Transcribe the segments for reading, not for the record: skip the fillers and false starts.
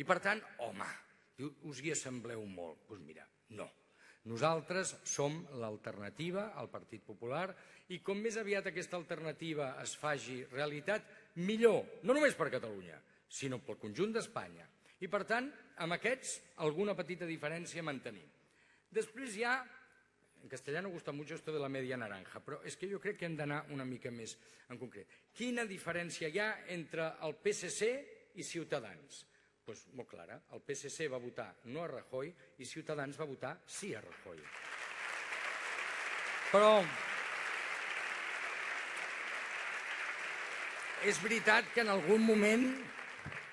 I per tant, home, us hi assembleu molt. Doncs mira, no. Nosaltres som l'alternativa al Partit Popular i com més aviat aquesta alternativa es faci realitat, millor, no només per Catalunya, sinó pel conjunt d'Espanya. I per tant, amb aquests, alguna petita diferència mantenim. Després hi ha, en castellano gusta mucho esto de la media naranja, però és que jo crec que hem d'anar una mica més en concret. Quina diferència hi ha entre el PSC i Ciutadans? Doncs molt clara, el PSC va votar no a Rajoy i Ciutadans va votar sí a Rajoy. Però és veritat que en algun moment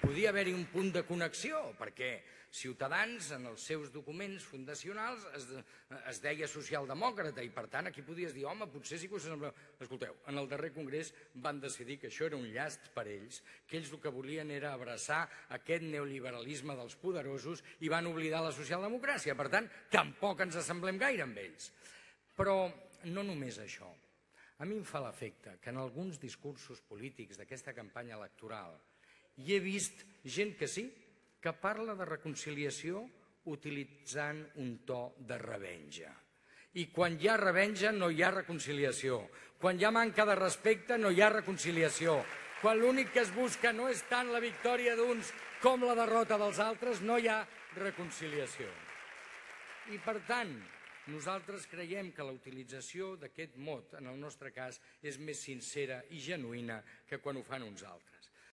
podia haver-hi un punt de connexió, perquè Ciutadans en els seus documents fundacionals es deia socialdemòcrata i per tant aquí podies dir, home, potser sí que us sembla... Escolteu, en el darrer congrés van decidir que això era un llast per ells, que ells el que volien era abraçar aquest neoliberalisme dels poderosos i van oblidar la socialdemocràcia. Per tant, tampoc ens assemblem gaire amb ells. Però no només això. A mi em fa l'efecte que en alguns discursos polítics d'aquesta campanya electoral hi he vist gent que sí, que parla de reconciliació utilitzant un to de revenja. I quan hi ha revenja no hi ha reconciliació. Quan hi ha manca de respecte no hi ha reconciliació. Quan l'únic que es busca no és tant la victòria d'uns com la derrota dels altres, no hi ha reconciliació. I per tant, nosaltres creiem que la utilització d'aquest mot, en el nostre cas, és més sincera i genuïna que quan ho fan uns altres.